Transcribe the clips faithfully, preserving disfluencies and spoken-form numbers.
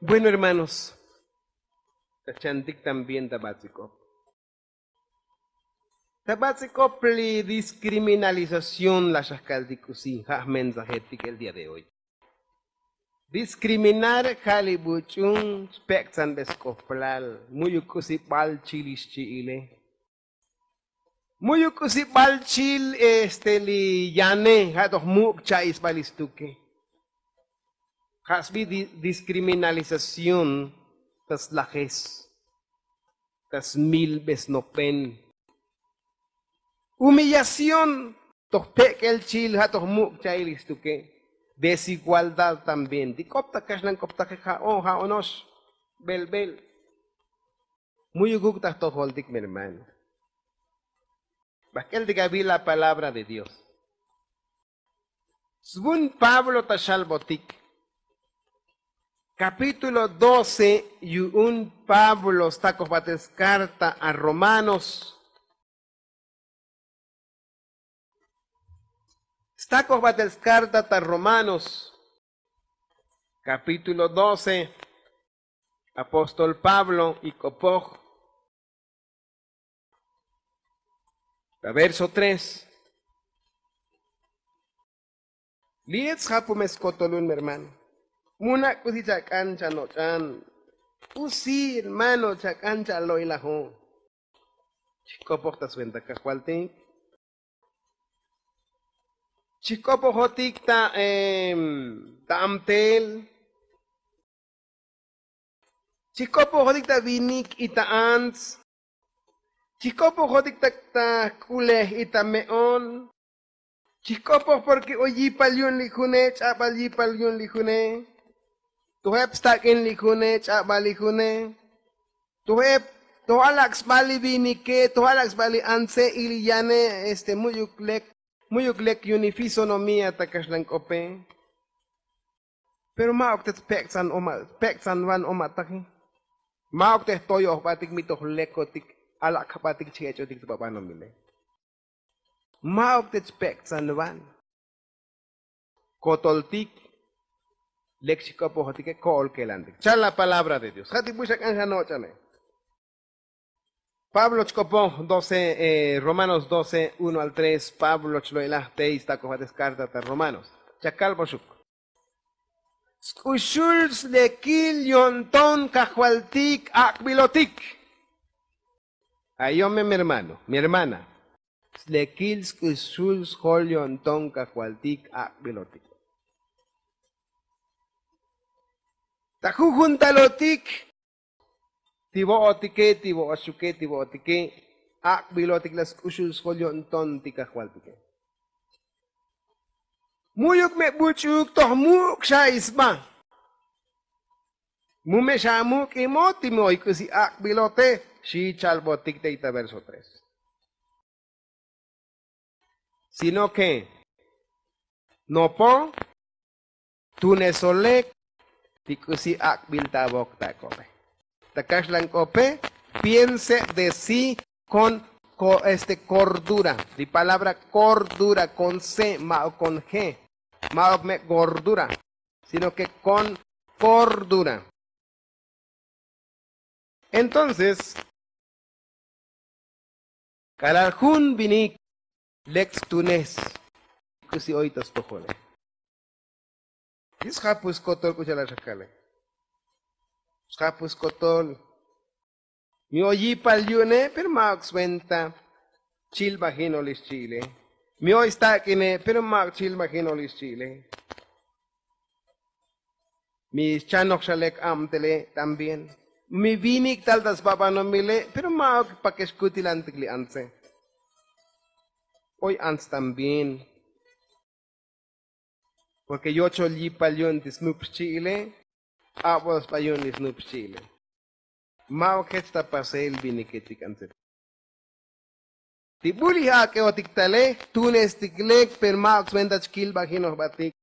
Bueno hermanos, ta chantik también ta batz'ik'op ta batz'ik'op li diskriminalización la xajkaltik k'usi ja' jmensajetik el día de hoy. Diskriminar ja' li buch'un chpek'tzanbe sk'oplal mu'yuk k'usi b'al chil ix chi'ile. Mu'yuk k'usi b'al chil este li yane ja' toj muk' cha'i sb'al ix stuke. Ja' sb'i diskriminalización ta slajes ta smilbesnopen. Humillación toj pek'el chil ja' toj muk' cha'il ix stuke. Desigualdad también ti k'op ta kaxlan k'op taje ja'o ja'onox b'elb'el. Mu'yukuk ta jtojoltik mi hermano. Bajk'el tik avi la palabra de dios. Svun pablo ta xalbotik kapítulo doce. Yu'un pablo stakoj batel skarta a romanos. Stakoj batel skarta ta romanos kapítulo doce. Apóstol pablo ik'opoj ta verso tres. Li' ech sjapume skotolun mi hermano. Muna' k'usi chak'an chanoch'an. K'usi hermano chak'an chalo'ilajo. Chijk'opoj ta sventa kajvaltik. Chijk'opojotik ta ta amtel. Chijk'opojotik ta vinik y ta ants. Chijk'opojotik ta jk'ulej y ta me'on. Chijk'opoj porke oy yipal yu'un li june ch'abal yipal yu'un li june. Tojeb stak'in li june ch'abal li june. Tojeb toj alak' sbal li vinike toj alak' sbal li antse y li yane este mu'yuk lek mu'yuk lek yu'un li fisonomía ta kaxlan k'ope. Pero ma'uk te tpek'tzan oma' pek'tzan van oma' taji. Ma'uk te jtoyoj jbatik mi toj lekotik alak' jbatik chijech'otik ta babanomile. Ma'uk te chpek'tzan van. Kotoltik lek chijk'opojotike ko'ol kelantik chal la palabra de dios ja' ti bu xak'an janoch'ane. Pablo chk'opoj doce romanos doce uno al tres pablo chlo'ilaj tey stakoj batel skarta ta romanos. Chakalboxuk. Sk'uxul slekil yo'nton kajvaltik ak'bilotik. Ayome mi hermano mi hermana. Slekil sk'uxul sjol yo'nton kajvaltik ak'bilotik. Ta jujuntalotik ti vo'otike ti vo'oxuke ti vo'otike. Ak'bilotik la sk'uxul sjol yo'nton ti kajvaltike. Mu'yuk me buch'uk toj muk' xa isba. Mu me xa amuk' imo ti me oy k'usi ak'bilote. Xi chalbotik tey ta verso tres. Sino ke nopo tunesolek ti k'usi ak'bil ta avok ta k'ope. Ta kaxlan k'ope piense de si kon este kordura. Li palabra kordura kon se ma'ok kon je. Ma'ok me' gordura sino ke kon kordura. Entonces k'alal jun vinik lek stunes k'usi oy ta stojole. Li' sjapu skotol k'u cha'al axakale. Sjapu skotol. Mi oy yipal yu'une pero ma'uk sventa chilbajinol ix chi'ile. Mi oy stak'ine pero ma'uk chilbajinol ix chi'ile. Mi xchanoj xa lek abtele también. Mi vinik tal ta sbabanomile pero ma'uk pake xkutilantik li antse. Oy ants también. Porke yochol yipal yu'un ti snup xchi'ile. Abol sba yu'un li snup xchi'ile. Ma'uk jech ta pasel viniketik antse. Ti bul ij ak'eotik tale jtunestik lek pero ma'uk sventa chkilbajinoj jbatik.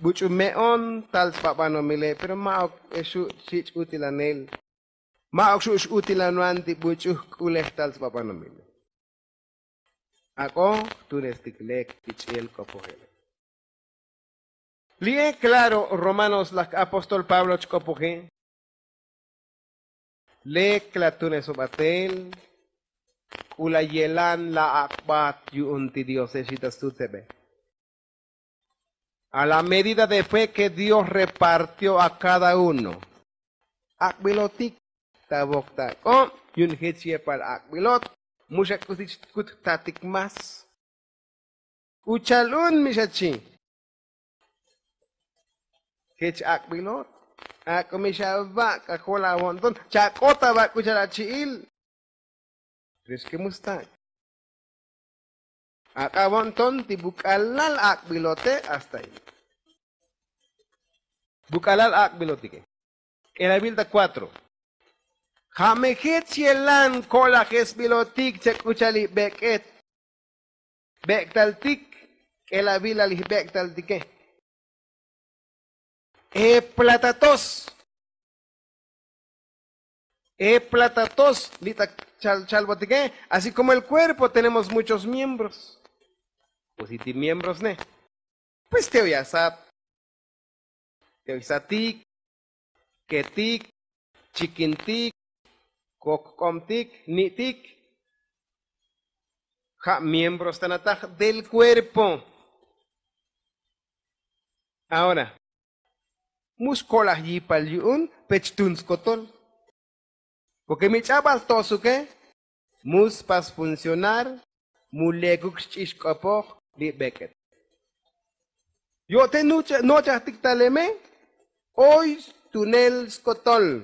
Buch'u me'on tal sbabanomile pero ma'uk xu' xich' utilanel. Ma'uk xu' x'utilan van ti buch'u jk'ulej tal sbabanomile. Ak'o jtunestik lek ti ch'iel k'opojele. Li'e klaro romanos laj apóstol pablo chk'opoje. Lek la tuneso batel k'u la yelan la ak'bat yu'un ti diose xita stutsebe. A la medida de fe ke dios repartio a kada uno. Ak'bilotik ta bok ta ak'ob yu'un jech yepal ak'bilot. Mu xa k'usi chkut jtatik más. K'u cha'al un mi xa chi. Jech ak'bilot. Ak'o mi xa aba' k'ajol avo'nton cha'k'ot aba' k'u cha'al achi'il. Pero es ke mu stak'. Ak'avo'nton ti buk'alal ak'bilote hasta ahí. Buk'alal ak'bilotike. K'elabil ta kuatro. Ja' me jech yelan ko'lajesbilotik cha k'u cha'al li bek'et. Bek'taltik k'elabil la li jbek'taltike. E platatos. E platatos li ta chalbotike. Así komo el kuerpo tenemos muchos miembros. Pues si ti miembros ne pues te oy asat. Te oy satik, ketik, chikintik, kokk'obtik, ni'tik. Ja' miembros tanataj del kuerpo. Ahora, mu skolaj yipal yu'un pech tun skotol. Porke mi ch'abal tosuke mu spas funcionar. Mu lekuk xch'ix k'opoj li bek'et. Yo' te nochajtik taleme. Oy tunel skotol.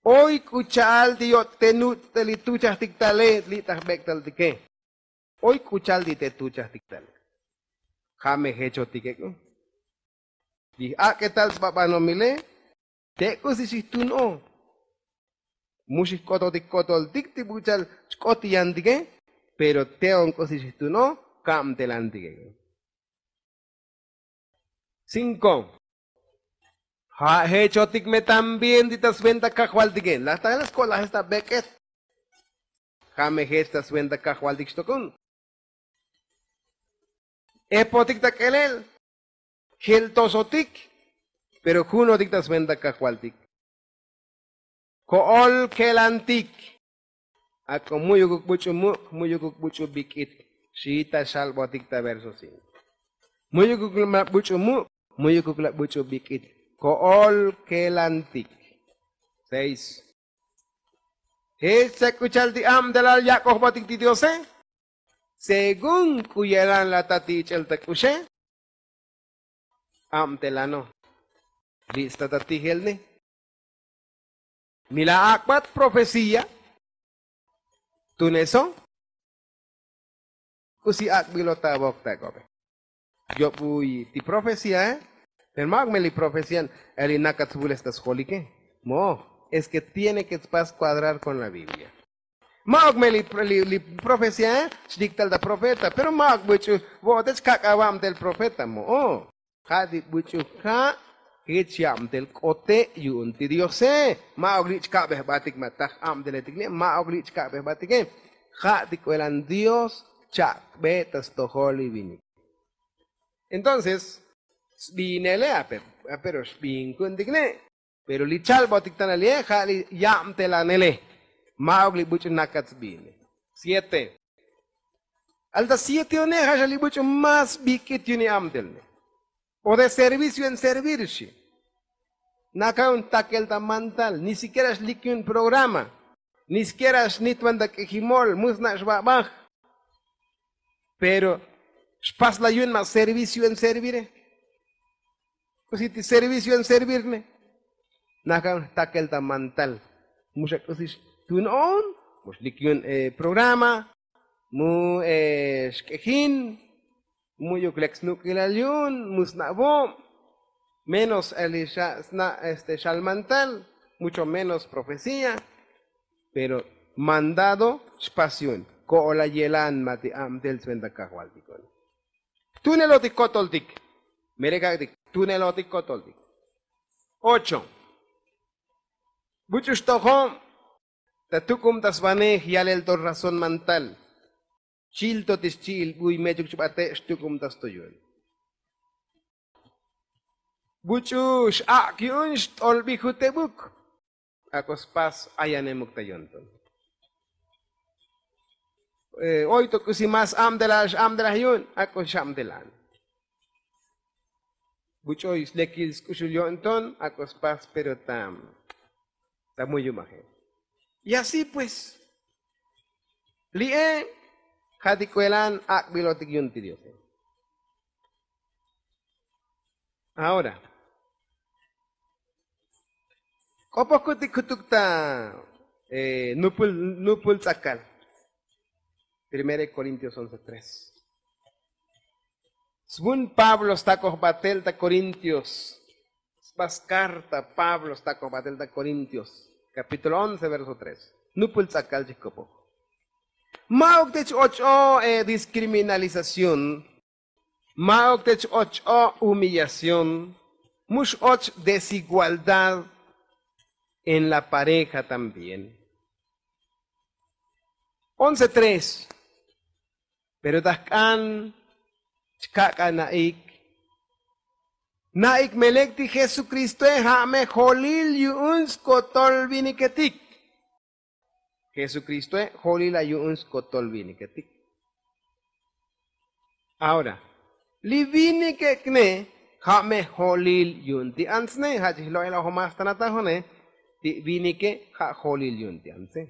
Oy k'u cha'al ti yo' te nuch' ta li tuchajtik tale li ta jbek'taltike. Oy k'u cha'al ti te tuchajtik tale. Ja' me jechotike k'u. Li j'ak'etal sba banomile. Te k'usi xijtun o. Mu xijk'ototik k'otoltik ti bucha'al chk'ot yantike. Pero te on k'usi xijtun o. Kabtelantike. Cinko. Ja' jechotik me también ti ta sventa kajvaltike laj ta la skolajes ta bek'et. Ja' me jech ta sventa kajvaltik xtokun. Epotik ta k'elel. Jeltosotik. Pero junotik ta sventa kajvaltik. Ko'ol kelantik. Ak'o mu'yukuk buch'u muk' mu'yukuk buch'u bik'it. Xi ta xalbotik ta verso cinko. Mu'yukuk la buch'u muk' mu'yukuk la buch'u bik'it. Ko'ol kelantik. Seis. Jech ta k'u cha'al ti abtelal yak'ojbotik ti diose. Según k'u yelan la ta ti ich'el ta k'uxe. Abtelano. Li' sta ta tijel ne. Mi la ak'bat profecía. Tuneso. K'usi ak'bilot ta bok ta k'obe. Yob uy ti profecía. Pero ma'uk me li profecía. Eli nakat svules ta sjolike. Mo'oj. Es ke tiene ke spas kuadrar kon la biblia. Ma'uk me li profecía. Xlik tal ta profeta pero ma'uk buch'u. Vo'ote chkak' avabtel profeta mo'oj. Ja' ti buch'u ja' jech yabtel k'ote' yu'un ti diose. Ma'uk li' chka'be jbatik ma taj abteletik li' ma'uk li' chka'be jbatike. Ja' ti k'uelan dios chak'be ta stojol li vinik. Entonces sbiinele. Apero sbiin ku'untik ne. Pero li chalbotik tanal ye ja' li yabtelanele. Ma'uk li buch'u nakat sbiine. Siete. Alta siete one ja' xa li buch'u más bik'it yuni abtelne. O de servicio en servir xi. Naka un takel ta mantal ni sikiera xlik yun programa. Ni sikiera xnitban ta k'ijimol mu sna' xbabaj. Pero xpasla yun ma servicio en servire. K'usi ti servicio en servirne. Nakan jtakel ta mantal. Mu xa k'usi xtun on mu xlik yun programa. Mu xk'ejin. Mu'yuk lek snuk'ilal yu'un mu sna' vob. Menos li xa sna' este xalmantal. Mucho menos profecía. Pero mandado xpas yu'un ko'ola yelan ma ti abtel sventa kajvaltik. Tunelotik kotoltik. Mere kak'tik tunelotik kotoltik. Ocho. Buch'u xtojo. Ta tuk'ub ta svanej yalel to razón mantal. Chil to ti xchi'il buy mechuk chbate' xtuk'ub ta stoyol. Buch'u x'ak' yu'un xt'olbi jutebuk. Ak'o spas ayanemuk ta yo'nton. Oy to k'usi mas abdelal x'abdelaj yu'un. Ak'o xabdelan. Buch'oy slekil sk'uxul yo'nton ak'o spas pero ta ta muyumaje. Y así pues li'e ja' ti k'uelan ak'bilotik yu'un ti diose. Ahora k'opoj kutik jutuk ta nupul nupul tz'akal. Primera de Corintios once tres. Svun pablo stakoj batel ta korintios. Sba skarta pablo stakoj batel ta korintios kapítulo once verso tres. Nupul tz'akal chijkopoj. Ma'uk te ch-och'o diskriminalización. Ma'uk te ch-och'o humillación. Mux och desigualdad en la pareja también. Once tres. Pero ta jk'an chkak'a na'ik. Na'ik me lek ti jesukristoe ja' me jolil yu'un skotol viniketik. Jesukristoe jolila yu'un skotol viniketik. Ahora li vinikekne ja' me jolil yu'un ti antsne ja' chijlo'el ojomastanatajo'ne. Ti vinike ja' jolil yu'un ti antse.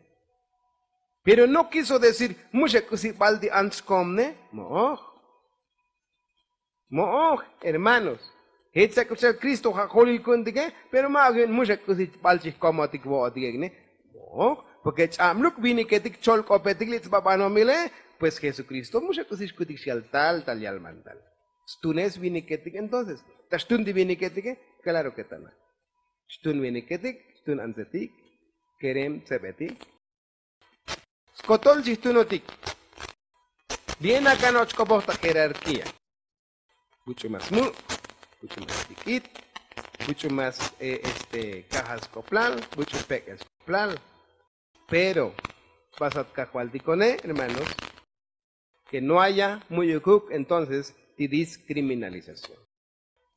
Pero no kiso decir muxa k'usi bal ti ants xkomne. Mo'oj. Mo'oj hermanos. Jech sak' k'uxal kristo ja' jolil ku'untike. Pero ma'ok yu'un muxa k'usi bal chijkomotik vo'otikekne. Mo'oj. Porke ch'abluk viniketik cholk'opetik li' tsba banomile. Pues jesukristo muxa k'usi xkutik xyal tal tal yalmantal. Stune sviniketik entonces ta xtun ti viniketike. Claro ke tana xtun viniketik xtun antsetik. Kerem tsebetik. Skotol chijtunotik. Bien akan och k'opoj ta jerarkía. Buch'u mas mu'. Buch'u mas tik'it. Buch'u mas kajal sk'oplal. Buch'u pek'el sk'oplal. Pero basat kajvaltikone hermanos, ke no haya mu'yukuk entonces ti diskriminalización.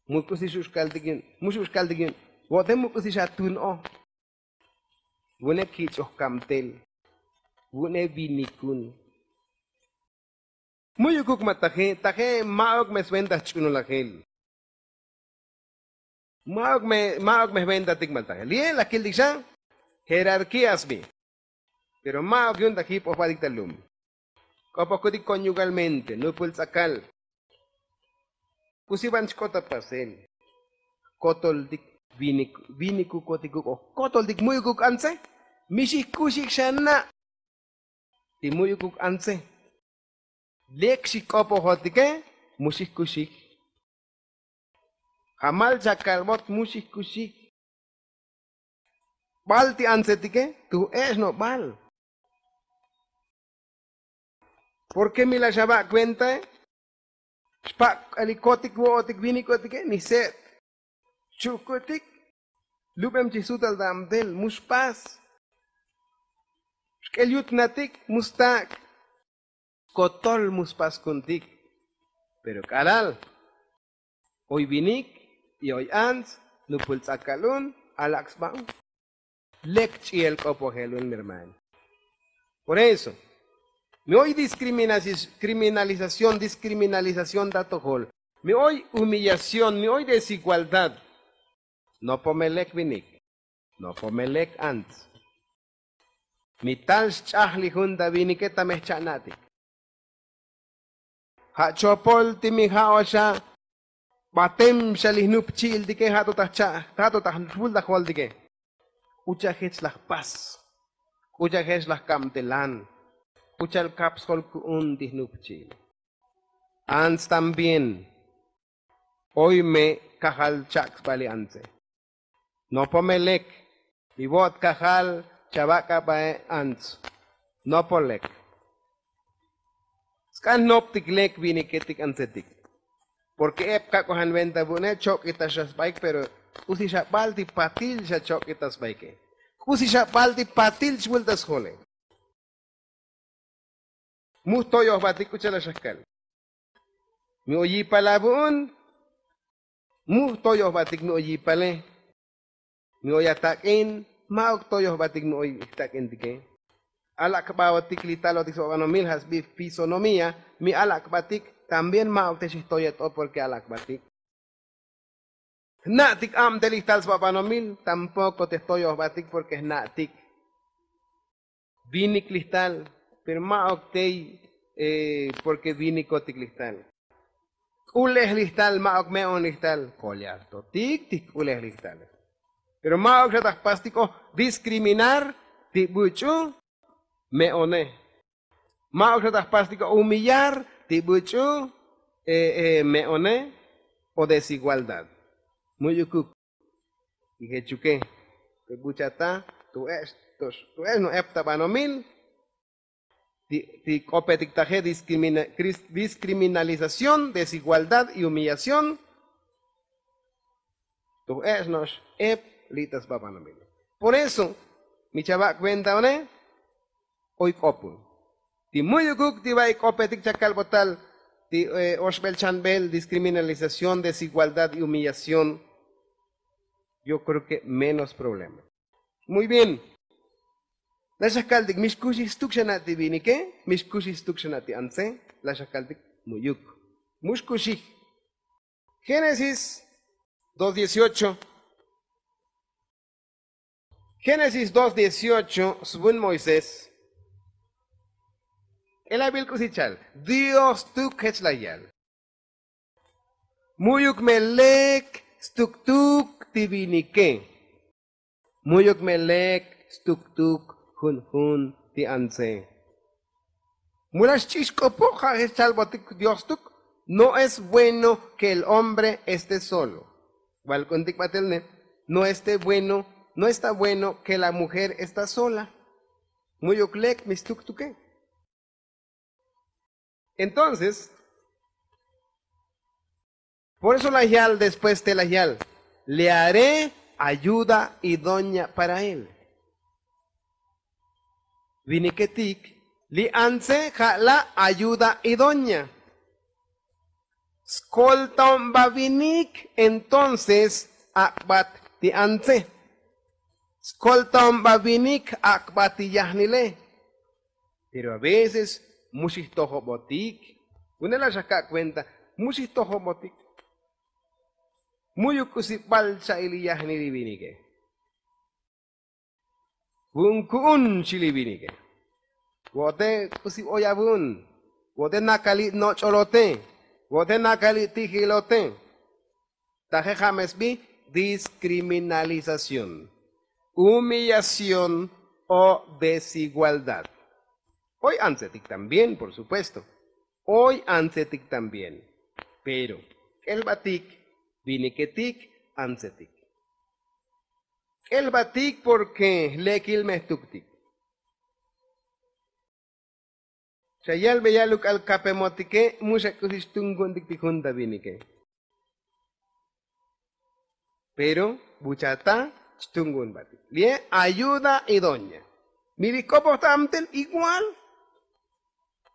Mu k'usi xux kaltik yu'un mu xux kaltik yu'un. Vo'te mu k'usi xatun o. Vu'une kich'oj kamtel. Vu'une vinikun. Mu'yukuk ma taje taje ma'ok me sventa jch'unulajel. Ma'ok me jventatik ma taje li'e laj kiltik xa. Jerarkía sbi. Pero ma'ok yu'un ta jip'ojbatik ta lum. K'opoj kutik konyugalmente nupul tz'akal. K'usi van chk'ot ta pasel. Kotoltik. Vinikukotik kuk'oj kotoltik mu'yukuk antse. Mi xijk'uxik xa na'. Ti mu'yukuk antse. Lek xijk'opojotike. Mu xijk'uxik. Jamal chakalbot mu xijk'uxik. Bal ti antsetike tuj e'ex no bal. Porke mi la xaba' kuentae. Xpak' k'alikotik vo'otik vinikotike ni se't. Xchu'kutik. Lubem chij sutal ta abtel mu xpas. Xk'el yut natik mu stak'. Skotol mu spas kuntik. Pero k'alal oy vinik y oy ants nupul tz'akal un. Alak' sba un. Lek ch'i'el k'opojel un mi hermano. Por eso mi oy diskriminalización diskriminalización ta atojol. Mi oy humillación mi oy desigualdad. Nopo me lek vinik. Nopo me lek ants. Mi tal xch'aj li jun ta vinike ta me jcha'na'tik. Ja' chopol ti mi ja' oxa. Batem xa li jnupchi'iltike ja' to ta jcha' ja' to ta jvul ta joltike. K'u cha' jech laj pas. K'u cha' jech laj kabtelan. K'u cha'al kap sjol ku'un ti jnupchi'il. Ants también. Oy me kajal chak' sba li antse. Nopo me lek. Mi vo't kajal chavak'abae ants. Nopo lek. Sk'an jnoptik lek viniketik antsetik. Porke ep kak'ojan venta vu'une chok'itax xa sbaik pero k'usi xa bal ti patil xa chok'itax sbaike. K'usi xa bal ti patil chvultax sjole. Mu jtoyojbatik k'u cha'al xa jkal. Mi oy yipal avu'un. Mu jtoyojbatik mi oy yipale, mi oy atak'in, ma'uk toyojbatik mi oy jtak'intike. Alak'baotik li talotik sba banomil ja' sbi fisonomía, mi alak'batik también ma'uk te xijtoyet'o porke alak'batik. Jna'tik abtel ijtal sba banomil, tampoko te jtoyojbatik porke jna'tik. Vinik lijtal, pero ma'uk tey porke vinikotik lijtal. K'ulej lijtal, ma'uk me'on lijtal. Kolyartotik ti jk'ulej lijtal, pero ma'uk xa ta jpastiko diskriminar ti buch'u me'one. Ma'uk xa ta jpastiko humillar ti buch'u me'one o desigualdad. Mu'yukuk. Y jechuke, te buchata tu ex no'ep ta banomil ti k'opetik taje, discriminalización, desigualdad y humillación. Tu ex no'ep li' ta sba banomil. Por eso mi chava' cuenta one, oy k'opun ti mu'yukuk ti ba'i k'opetik cha kalbotal ti oxbel chanbel, discriminalización, desigualdad y humillación. Yo creo que menos problema. Muy bien. La xakaltik mi xkuxij stuk xana' ti vinike, mi xkuxij stuk xana' ti antse. La xakaltik mu'yuk, mu xkuxij. Génesis dos dieciocho. Génesis dos dieciocho, svun moisés. K'elabil k'usi chal dios tuk jech la yal. Mu'yuk me lek stuktuk ti vinike. Mu'yuk me lek stuktuk junjun ti antse. Mu la xch'ix k'opoj ja' jech chalbotik dios tuk. No es bueno ke el hombre este solo. Balk'untik batel ne, no este bueno, no esta bueno ke la mujer esta sola. Mu'yuk lek mi stuktuke. Entonces, por eso la yal después te la yal, le haré ayuda idoña para él. Viniketik li antse ja' la ayuda idoña. Skoltaon ba vinik entonces ak'bat ti antse. Skoltaon ba vinik ak'bat ti yajnile. Pero a veces mu xijtojobotik. Une la xaka' cuenta, mu xijtojobotik. Mu'yuk k'usi bal cha'il li yajnil li vinike. Vu'un ku'un xi li vinike. Vo'ote k'usi oy avu'un. Vo'ote nakali' noch'olote. Vo'ote nakali' tijilote. Taje ja' me sbi discriminalización, humillación o desigualdad. Oy antsetik también por supuesto. Oy antsetik también. Pero k'elbatik, viniketik antsetik. K'elbatik porke lekil me jtuktik. Xa yalbe yaluk'al kapemotike mu xa k'usi xtunku'untik ti jun ta vinike. Pero buchata xtunku'un batik li'e ayuda idoña. Mi li k'opoj ta amtel igual.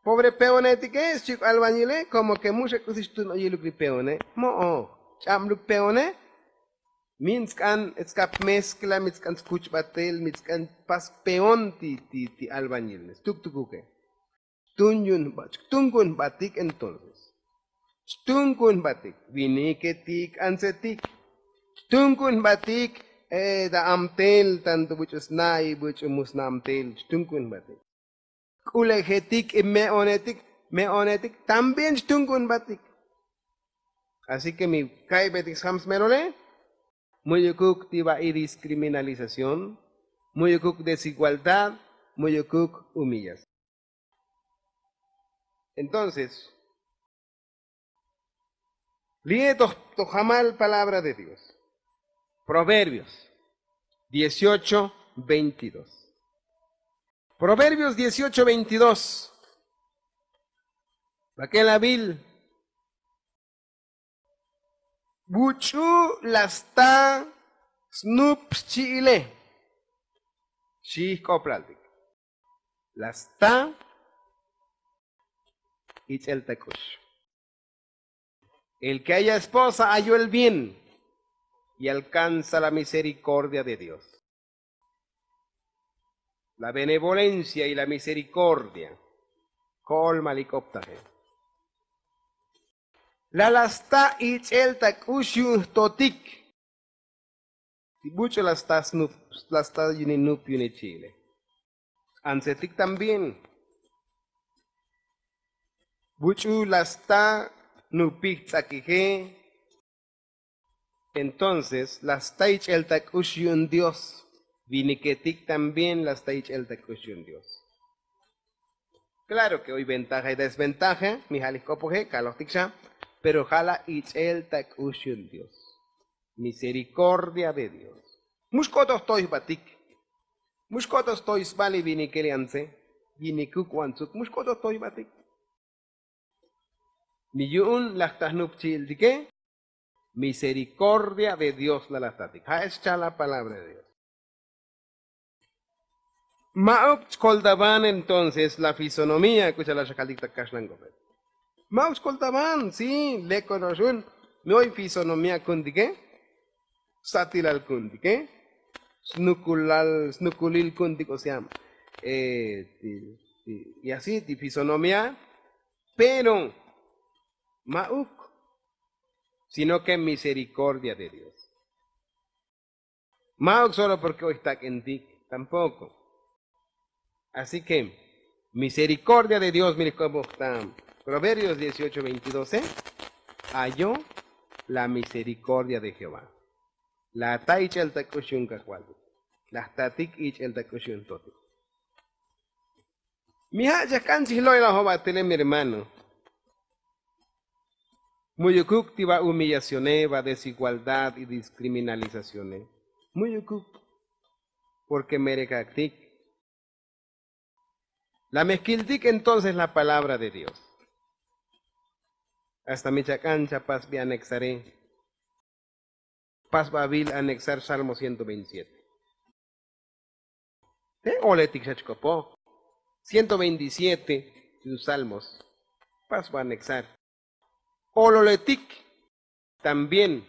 Pobre peonetike xchik' albañile komo ke mu xa k'usi xtun oyiluk li peone. Mo'oj. Ch'abluk peone. Min tsk'an tskap mezkla, min tsk'an skuch batel, min tsk'an pas peon ti albañil ne stuktukuke. Xtun yu'un jbatik entonces. Xtun ku'un jbatik viniketik antsetik. Xtun ku'un jbatik ta amtel tanto buch'u sna' y buch'u mu sna' amtel xtun ku'un jbatik. K'ulejetik y me'onetik. Me'onetik también xtun ku'un jbatik. Así ke mi ka'ybetik sjam smelole, mu'yukuk ti ba'i discriminalización, mu'yukuk desigualdad, mu'yukuk humillación. Entonces li'e toj jamal palabra de dios. Proverbios dieciocho veintidós. Proverbios dieciocho veintidós. Bak'el abil. Buch'u la sta snup xchi'ile. Xi jk'oplaltik. La sta ich'el ta k'ux. El ke aya esposa ayo el bien. Y alkansa la miserikordia de dios. La benevolencia y la miserikordia. Ko'ol malik optaje. La la sta ich'el ta k'ux yu'un jtotik. Ti buch'u la sta snup la sta yuni nup yuni chi'ile. Antsetik también. Buch'u la sta nupij ts'akije. Entonces la sta ich'el ta k'ux yu'un dios. Viniketik también la sta ich'el ta k'ux yu'un dios. Klaro ke oy ventaja y desventaja mi ja' li jk'opoje kalojtik xa. Pero ja' la ich'el ta k'ux yu'un dios. Miserikordia de dios. Mux k'ot oj toy jbatik. Mux k'ot oj toy sba li vinikel yantze. Yinikuk wantsuk mux k'ot oj toy jbatik. Mi yu'un laj ta jnupchi'iltike. Miserikordia de dios la laj tatik ja' es chal la palabra de dios. Ma'uk chkoltaban entonces la fisonomía k'uchal la xakaltik ta kaxlan k'opet. Ma'uk chkoltaban si leko no'ox un. Mi oy fisonomía ku'untike. Satilal ku'untike. Snukulal snukulil ku'untik osea. Y así ti fisonomía. Pero ma'uk sino ke miserikordia de dios. Ma'uk solo porke oy jtak'intik. Tampoko. Así ke miserikordia de dios mi li jk'opoj ta proverbios dieciocho veintidose. Ayo la miserikordia de jehová. La ta ich'el ta k'ux yu'un kajvaltik. La jtatik ich'el ta k'ux yu'un totik. Mi ja' chajk'an chijlo'ilajob'atele mi hermano. Mu'yukuk ti va humillacione va desigualdad y diskriminalizacione. Mu'yukuk. Porke merekaktik. La mejkiltik entonces la palabra de dios. Hasta mi chak'an chapasbi anexare. Pasbavil anexar salmo ciento veintisiete. Oletik xa chk'opoj. Ciento veintisiete. Yu salmos. Pasba anexar. Ololetik. También.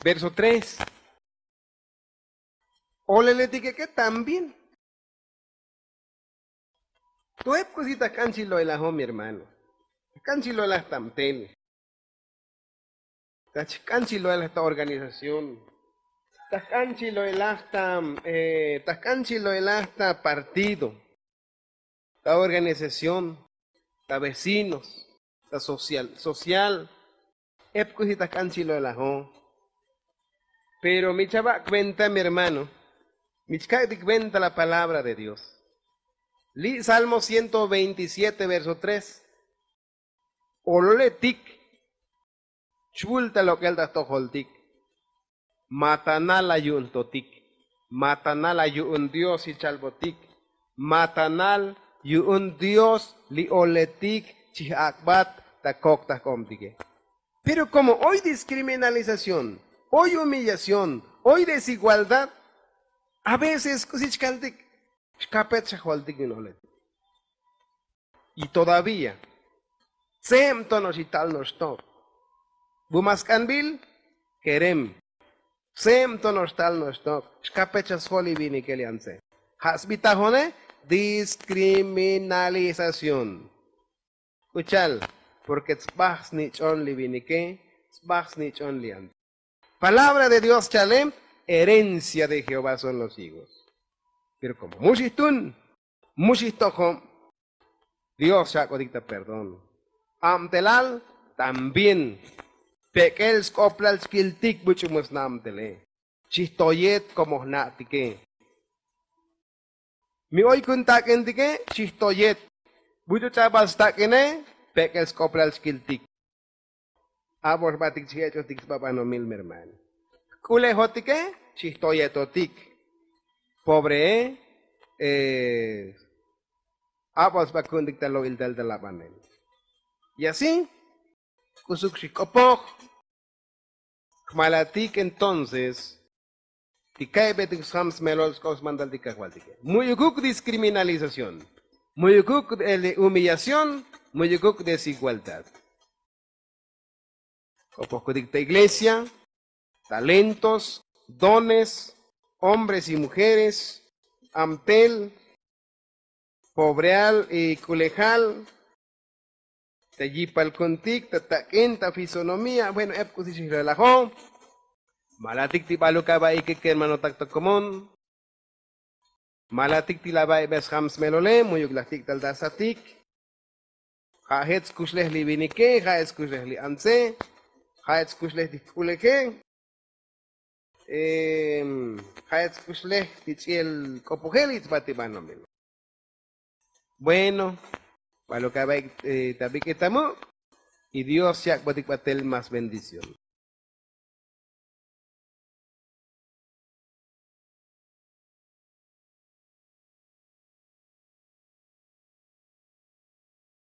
Verso tres. Oleletike ke también. To'ep k'usi ta jk'an chi lo'elajo mi hermano. Ta jk'an chi lo'elaj ta mtel. Ta jk'an chi lo'elaj ta organización. Ta jk'an chi lo'elaj ta ta jk'an chi lo'elaj ta partido. Ta organización. Ta vecinos. Ta social social. Ep k'usi ta jk'an chi lo'elajo. Pero mi chava' cuenta mi hermano. Mi chkak'tik venta la palabra de dios. Li' salmo ciento veintisiete verso tres. Ololetik. Chvul ta lok'el ta jtojoltik. Matanal la yu'un totik. Matanal la yu'un dios xichalbotik. Matanal yu'un dios li oletik chij'ak'bat ta kok ta jk'obtike. Pero komo oy diskriminalización, oy humillación, oy desigualdad. A veces k'usi chkaltik. Xkapet xa joltik yu'un oletik. Y todavía tse'em to no'ox ital no'ox tok. Bu ma sk'anbil kerem. Tse'em to no'ox tal no'ox tok. Xkapet xa sjol ivinikel yantze. Ja' sbitajone diskriminalización. K'uchal. Porke tsbaj snich'on li vinike. Tsbaj snich'on li yantze. Palabra de dios chale. Herencia de jehová son los hijos. Pero komo mu xijtun, mu xijtojob, dios xak'otik ta perdón. Abtelal también. Pek'el sk'oplal chkiltik buch'u mu sna'abtele. Xijtoyet komo jna'tike. Mi oy kun tak'intike. Xijtoyet. Buch'u ch'abal stak'ine. Pek'el sk'oplal chkiltik. Abol jbatik chijech'otik sba banomil mi hermano. Jk'ulejotike. Xijtoyetotik. Pobree. Abol sba ku'untik ta lo'iltal ta labanel. Y así k'usuk xijk'opoj. Kmalatik entonces ti ka'ybetik sjam smelol sk'op smantaltik kajvaltike. Mu'yukuk diskriminalización. Mu'yukuk humillación. Mu'yukuk desigualdad. K'opojkutik ta iglesia, talentos, dones, hombres y mujeres, amtel, pobreal y k'ulejal, ta yipal kuntik ta tak'in ta fisonomía. Bueno, ep k'usi xijlalajo. Malatik ti baluk aba'ike kermanotak ta komon. Malatik ti laba'ibes jam smelole mu'yuk laj tik'tal ta satik. Ja' jet skuxlej li vinike, ja' jet skuxlej li antse, ja' jet skuxlej ti jk'uleje. Ja'et skuxlej ti ch'i'el k'opojel its'bat ti banomil. Bueno, balo' ka'ba'ik ta bik'etamu'. Y dios yak'botik batel más bendición.